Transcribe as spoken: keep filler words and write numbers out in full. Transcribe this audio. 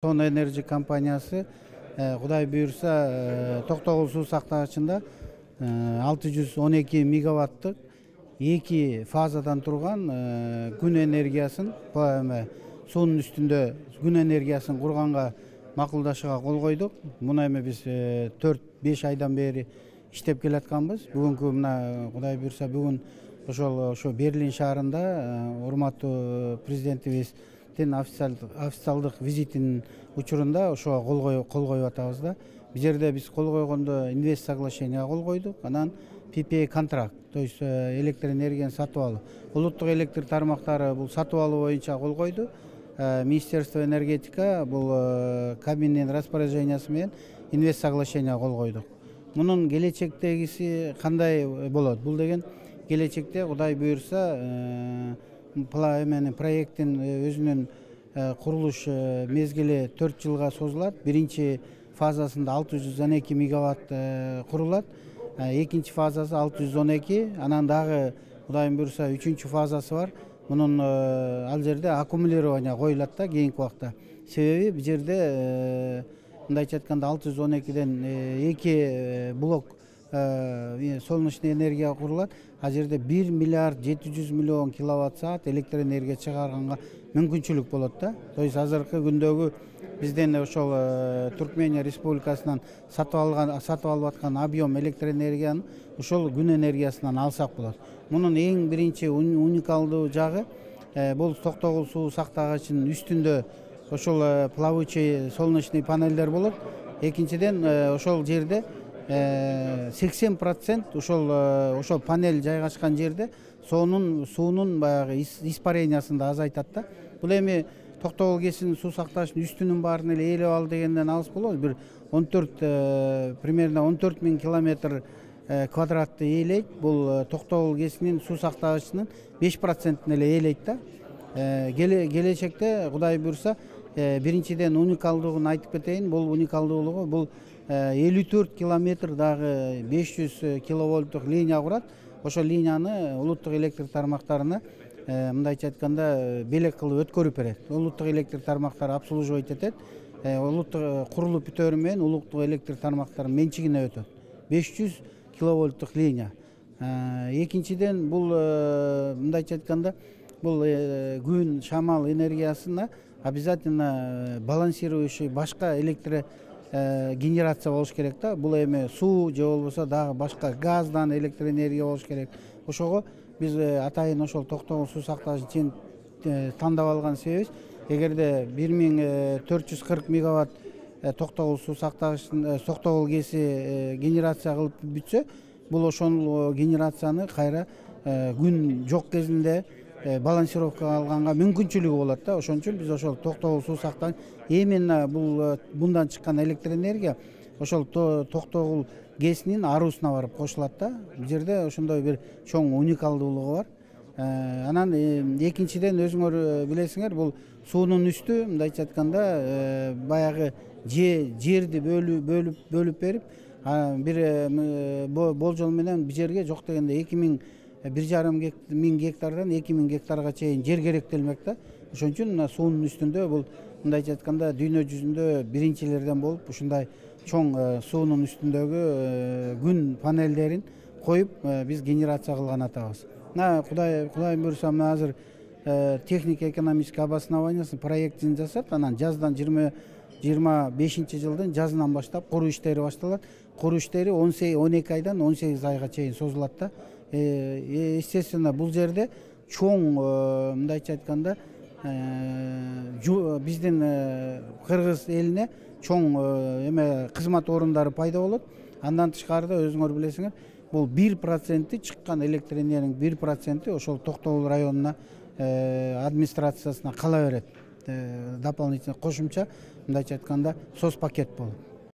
Son Enerji компаниясы Кудай буйрса Токтогул суу сактагычында алты жүз он эки мегаваттык эки фазадан турган күн энергиясын суунун үстүндө күн энергиясын курганга макулдашууга кол койдук. Муну эми биз төрт беш айдан бери иштеп келатканбыз. Бүгүнкү мына Кудай буйрса бүгүн ошол ошо Берлин шаарында урматтуу президентибиз официалдык визитинин учурунда ошого кол кол коюп атабыз да. Бул жерде биз кол койгондо инвест соглашенияга кол койдук. Анан пи пи эй контракт, то есть электр энергияны сатып алуу. Улуттук электр тармактары бул сатып алуу боюнча кол койду. Министерство энергетика бул кабиненин распоряжениясы менен инвест соглашенияга кол койдук. Мунун келечектегиси кандай болот? Бул деген келечекте Кудай буйрса эменин проекттин өзүнүн курулуш мезгили төрт жылга созулат. Биринчи фазасында алты жүз он эки мегаватт курулат. Экинчи фазасы алты жүз он эки, анан дагы Кудай буйрса үчүнчү фазасы бар. Мунун ал жерде аккумулирование коюлат да кийинки убакта. Себеби бул жерде мындайча айтканда алты жүз он экиден эки блок солнечный энергия курулат. Ал жерде бир миллиард жети жүз миллион киловатт саат электр энергия чыгарганга мүмкүнчүлүк болот да. То есть азыркы күндөгү бизден ошол Түркмения Республикасынан сатып алган сатып алып аткан объем электр энергияны ошол күн энергиясынан алсак болот. Мунун эң биринчи уникалдуу жагы бул Токтогул суу сактагычынын үстүндө ошол плавучий солнечный панелдер болот. Экинчиден ошол жерде сексен процент ошол ошол панель жайгашкан жерде суунун суунун баягы испарениясын да азайтат да. Бул эми Токтогул КЭСинин суу сактагычынын үстүнүн баарын эле ээлеп ал дегенден алыс болобу. Бир он төрт примерно он төрт миң километр квадратты ээлейт. Бул Токтогул КЭСинин суу сактагычынын беш процентин эле ээлейт да. Келечекте Кудай буйрса биринчиден уникалдуулугун айтып кетейин. Бул уникалдуулугу бул элүү төрт километр дагы беш жүз киловольттук линия курат. Ошол линияны улуттук электр тармактарына мындайча айтканда белек кылып өткөрүп берет. Улуттук электр тармактары обслуживать этет. Улуттук курулуп бүтөөрү менен улуттук электр тармактарынын менчигине өтөт. беш жүз киловольттук линия. Экинчиден бул мындайча айтканда бул күн, шамал энергиясына обязательно балансирующий башка электр генерация болуш керек да. Бул эми суу же болбосо дагы башка газдан электр энергия болуш керек. Ошого биз атайын ошол Токтогул суу сактагычын тандап алган себебибиз, эгерде бир миң төрт жүз кырк мегаватт Токтогул суу сактагычын Токтогул КЭСи генерация кылып бүтсө, бул ошол генерацияны кайра күн жок кезинде балансировка алганга мүмкүнчүлүгү болот да. Ошон үчүн биз ошол Токтогул суу сактагыч именно бул мындан чыккан электр энергия ошол Токтогул КЭСинин арусуна барып кошулат да. Бул жерде ошондой бир чоң уникалдуулугу бар. Анан экинчиден өзүңөр билесиңер, бул суунун үстү мындайча айтканда баягы жерди бөлүп бөлүп бөлүп берип, бир болжол менен бул жерге жок дегенде эки миң бир жарым миң гектардан эки миң гектарга чейин жер керектелмек да. Ошон үчүн суунун үстүндө бул мындайча айтканда дүйнө жүзүндө биринчилерден болуп ушундай чоң суунун үстүндөгү күн панелдерин коюп биз генерация кылган атабыз. Мына Кудай Кудай буйрса мына азыр технико экономический обоснованиясын проектин жасап, анан жаздан жыйырма бешинчи жылдын жазынан баштап куруу иштери башталат. Куруу иштери он эки айдан он сегиз айга чейин созулат да. Естественно, бул жерде чоң мындайча айтканда биздин кыргыз элине чоң эме кызмат орундары пайда болот. Андан тышкарыда өзүңөр билесиңер, бул бир проценти чыккан электр энергиянын бир проценти ошол Токтогул районуна администрациясына кала берет. Дополнительно кошумча мындайча айтканда соц пакет болот.